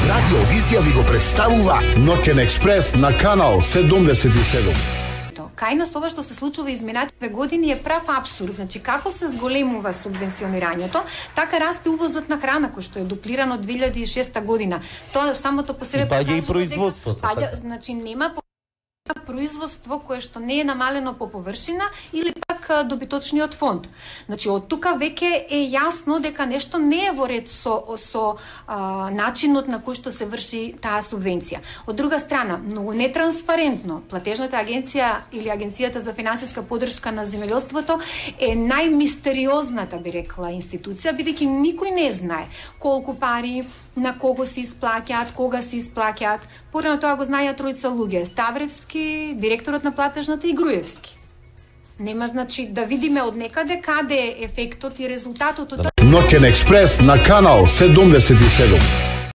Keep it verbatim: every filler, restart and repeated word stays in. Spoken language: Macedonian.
Радио Визија ви го представува Ноќен експрес на канал седумдесет и седум. Кај нас ова што се случува изминативе години е прав апсурд. Значи, како се зголемува субвенционирањето, така расте увозот на храна, кој што е дуплирано од две илјади и шеста година. Тоа самото по себе паѓа и производството. Паѓа, значи нема производство кое што не е намалено по површина или пак добиточниот фонд. Значи од тука веќе е јасно дека нешто не е во ред со со а, начинот на кој што се врши таа субвенција. Од друга страна, многу нетранспарентно, платежната агенција или агенцијата за финансиска поддршка на земјоделството е најмистериозната, би рекла, институција, бидејќи никој не знае колку пари на кого се исплаќаат, кога се исплаќаат. Порано тоа го знаеа тројца луѓе: Ставревски, директорот на платежната и Груевски. Нема, значи, да видиме од некаде каде е ефектот и резултатот од тоа. Ноќен експрес на канал седумдесет и седум.